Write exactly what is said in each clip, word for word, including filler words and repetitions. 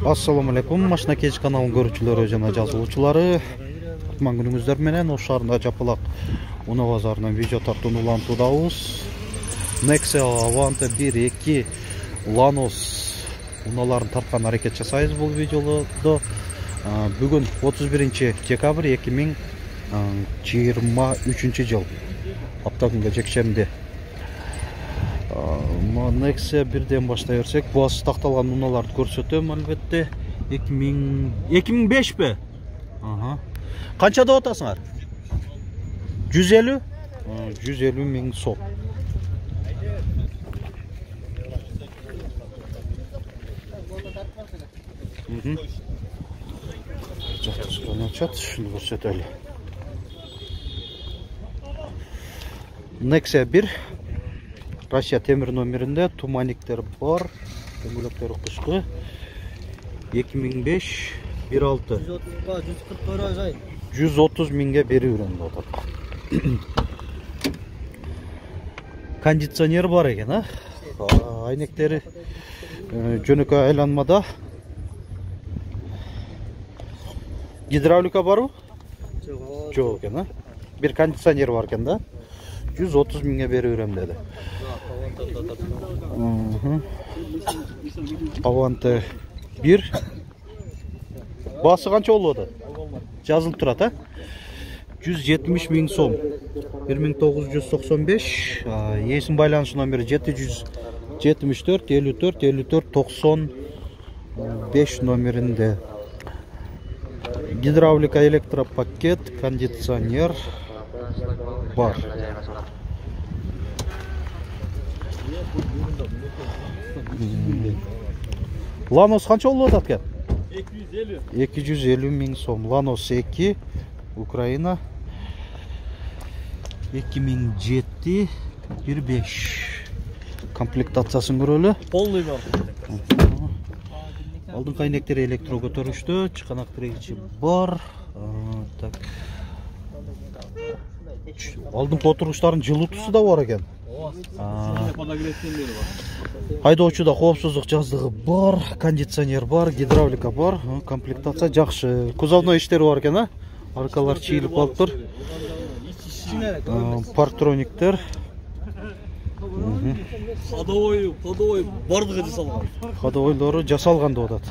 Assalamu alaikum, Машина Кеч каналынын көрүүчүлөрү жана жазылуучулары. Кутман күнүңүздөр менен Ош шаарында Жапалак унаа базарынан видео тартууну улантуудабыз. Nexia Avante бир эки Lanos унааларын тарткан аракет жасайбыз бул видеодо. Бүгүн отуз биринчи декабрь эки миң жыйырма үчүнчү жыл. Апта күнгө жекшемби. Nexia бирден баштай берсек, буасы такталган унааларды көрсөтөм албетте. эки миң бешпи? Ага. Канча деп атасыңар? жүз элүү? жүз элүү миң сом. Мхм. Жактырган ачат, шуну көрсөтөлү. Nexia бир Россия темир номеринде туманиктер бар, дөңгөлөктөрү кышкы. эки миң беш бир алты. жүз отуз миңге берүү өрөндө атат. Кондиционер бар экен, а? Айнектери жөнөкөй айланмада. Гидравлика барбы? Жок экен, а? Бир кондиционер бар экен да. жүз отуз миңге берүү өрөм деди. Avante бир. Басы канча болуп атат? Жазылып турат, а? жүз жетимиш миң сом. бир миң тогуз жүз токсон беш. Эсим байланыш номери жети жүз жетимиш төрт элүү төрт элүү төрт токсон беш номеринде. Гидравлика, электропакет, кондиционер бар. Lanos канча болуп атат экен? эки жүз элүү миң сом. Lanos эки, Украина. эки миң жети бир беш. Комплектациясын көрөлү. Полный бар. Алдыңкы айнектери электро көтөрүштө, чыканак тирегичи бар. Так. Алдыңкы отургучтардын жылуутусу да бар экен. Айдоочуда коопсуздук жаздыгы бар, кондиционер бар, гидравлика бар, комплектация жакшы. Кузовной иштери бар экен, а? Аркалар чийилип калыптыр. Парктрониктер. Ходовой, ходовой бардыгы жасалган. Ходовойлору жасалган деп атат.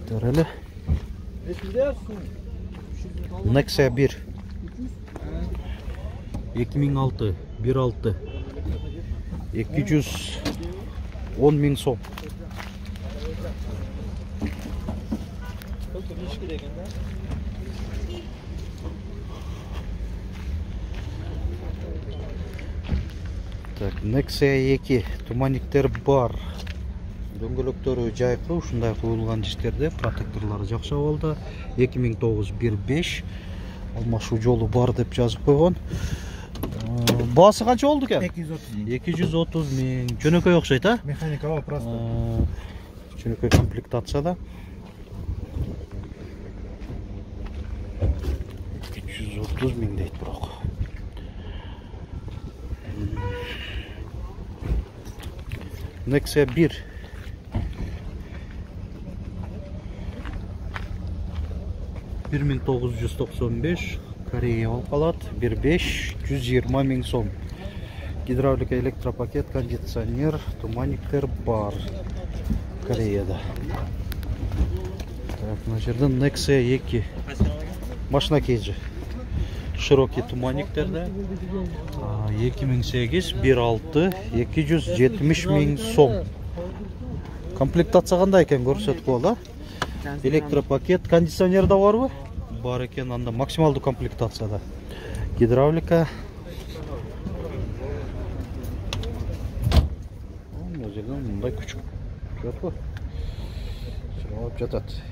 Төрөлө. Nexia бир. эки миң алты, бир алты. эки жүз он миң сом. Так, Nexia эки туманиктер бар. Дөңгөлөктөрү жайкы, ушундай коюлган иштерде, протекторлору жакшы абалда. эки миң тогуз бир беш. Алмашуу жолу бар деп жазып койгон. Баасы канча болду экен? эки жүз отуз миң. Жөнөкөй окшойт, а? Механикалык просто. Жөнөкөй комплектацияда. эки жүз отуз миң дейт бирок. Nexia бир. бир миң тогуз жүз токсон беш, Корея болуп калат, бир беш, жүз жыйырма миң сом. Гидравлика, электропакет, кондиционер, туманиктер бар. Кореяда. Так, мына жерде Nexia эки. Машина Кеч. Широкий туманиктерде. эки миң сегиз, бир алты, эки жүз жетимиш миң сом. Комплектация кандай экен көрсөтүп коелу, а? Электропакет, кондиционер да барбы? Бар экен, анда максималдуу комплектацияда. Гидравлика. Мына жерден мындай күчүк жокпу? Чыгып жатат.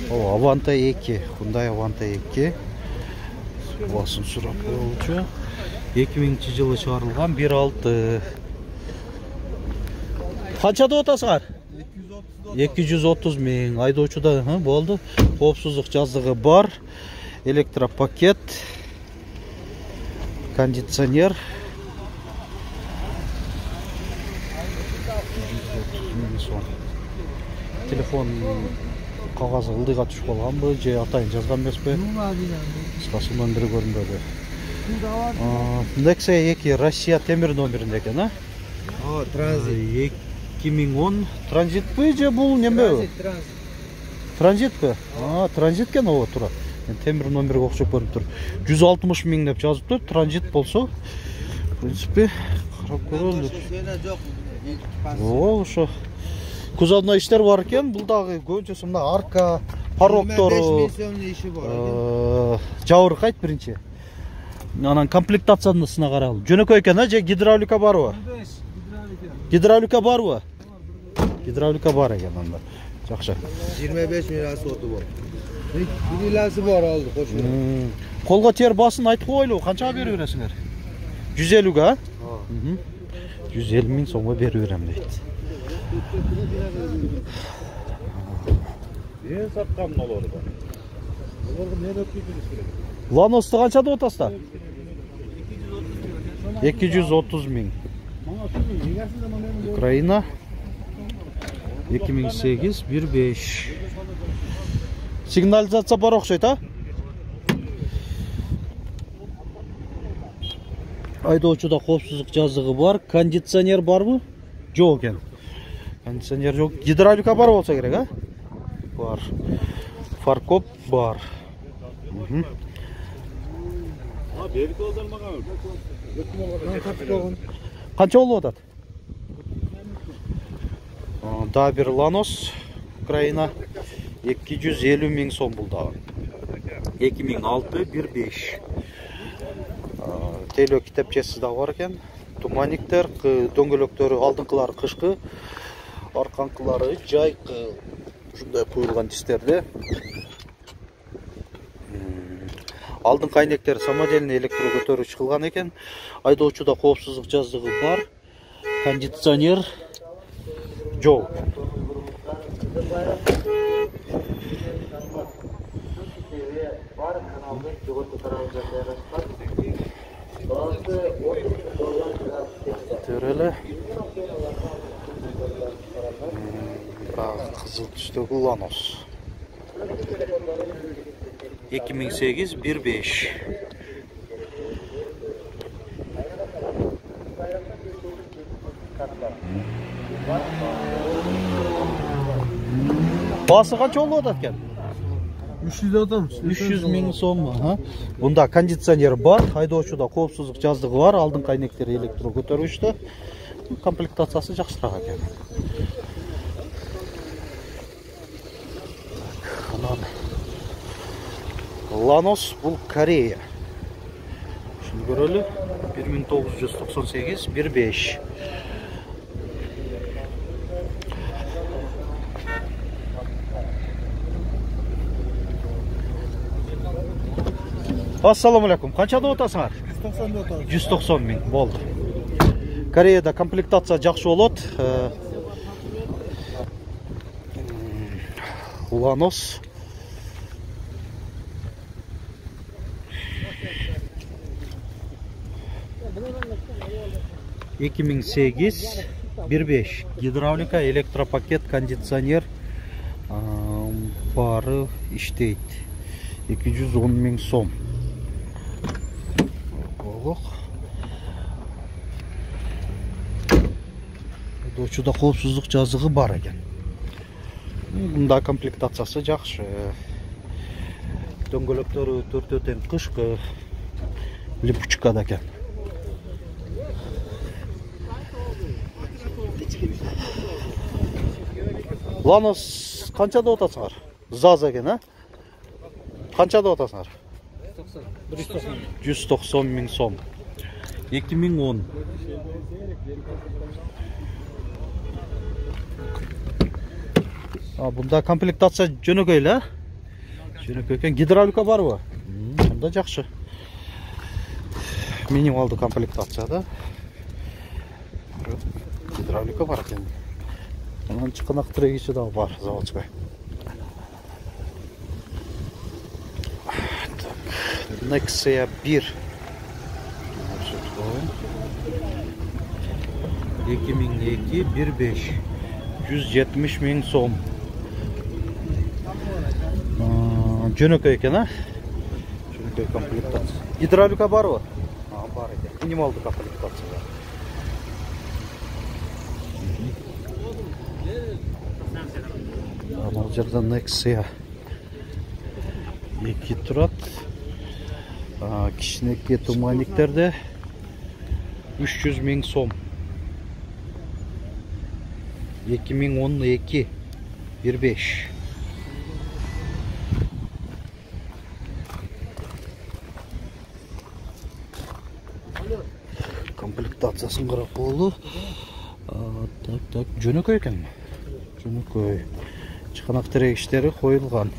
Avante эки, Hyundai Avante эки. басым сурап коелучу. эки миңинчи жылы чыгарылган бир алты. Канча деп атасыңар? эки жүз отуз миң. Айдоочуда болду. Коопсуздук жаздыгы бар. Электропакет. Кондиционер. Телефон кагазы ылдыйга түшүп калганбы же атайын жазган эмеспи? Кыскасынан бири көрүнбөдү. Nexia эки Россия темир номеринде экен, а? Ооба, транзит. эки миң он транзитпи же бул неме? Транзит. Транзитпи? А, транзит экен, ооба, туура. Темир номерге окшоп көрүнүп тур. жүз алтымыш миң деп жазыптыр. Транзит болсо, в принципе, карап көрөлү. Ооба, ошо. Кузовдо иштер бар экен. Бул дагы көбүнчөсү мына арка, пароктору, жабыркайт биринчи. Анан комплектациясына карайлы. Жөнөкөй экен, а же гидравлика барбы? Гидравлика барбы? Гидравлика бар экен анда. Жакшы. жыйырма беш миң расходу бар. Бир иласы бар алды, кошо. Колго тер басын айтып койлу, канчага берип бересиңер? жүз элүүгө, а? жүз элүү миң сомго берип берем дейт. Мен саткам олорду. Олорго мен өтүп керек. Ланосты канча деп атасыздар? эки жүз отуз миң. Украина эки миң сегиз бир беш. Сигнализация бар окшойт, а? Айдоочуда коопсуздук жазыгы бар. Кондиционер барбы? Жок экен. Кондиционер жок. Гидравлика бар болсо керек, а? Бар. Фаркоп бар. А, берип алган. Канча болуп атат? Да бир Ланос Украина эки жүз элүү миң сом бул дагы. эки миң алты бир беш. Тейлөө китепчеси да бар экен. Туманиктер, дөңгөлөктөрү алдыңкылары кышкы, арканкылары жайкы. Ушундай куюлган дистерде. Алдыңкы айнектер самодельный электро көтөрүүчү кылган экен. Айдоочуда коопсуздук жаздыгы бар. Кондиционер жок. Төреле. Кызыл түстөгү Ланос. эки миң сегиз бир беш. Басы канча болуп атат экен? үч жүз адам. үч жүз миң сом, ага. Бунда кондиционер бар, айдоочуда коопсуздук жаздыгы бар, алдыңкы айнектери электро көтөрүштү. Комплектациясы жакшыраак экен. Ланос бул Корея. Шуну көрөлү. бир миң тогуз жүз токсон сегиз бир беш. Ассаламу алейкум. Канча деп атасыңар? жүз токсон деп атабыз. жүз токсон миң болду. Кореяда комплектация жакшы болот. Ланос эки миң сегиз бир беш. Гидравлика, электропакет, кондиционер бары иштейт. эки жүз он миң сом. Айдоочуда коопсуздук жазыгы бар экен. Мында комплектациясы жакшы. Дөңгөлөктөрү төртөө тең кышкы. Липучкада экен. Ланос канча деп атасыңар? Заз экен, а? Канча деп атасыңар? жүз токсон миң сом. эки миң он. А, бунда комплектация жөнөкөй эле, а? Жөнөкөй экен. Гидравлика барбы? Анда жакшы. минималдуу комплектация да. Гидравлика бар экен. Анан чыканак трегичи да бар, заводской. Nexia bir эки миң эки бир беш жүз жетимиш миң сом. Жөнөкөй экен, а? Жөнөкөй комплектация. Гидравлика барбы? А, бар экен. Минималдуу комплектация. Бул жерде Nexia эки турат. Кичинекей туманниктерде үч жүз миң сом. эки миң он эки бир беш. Комплектациясын карап болду. Так, так, жөнөкөй экен. Жөнөкөй. Чыканак тирегичтери коюлган.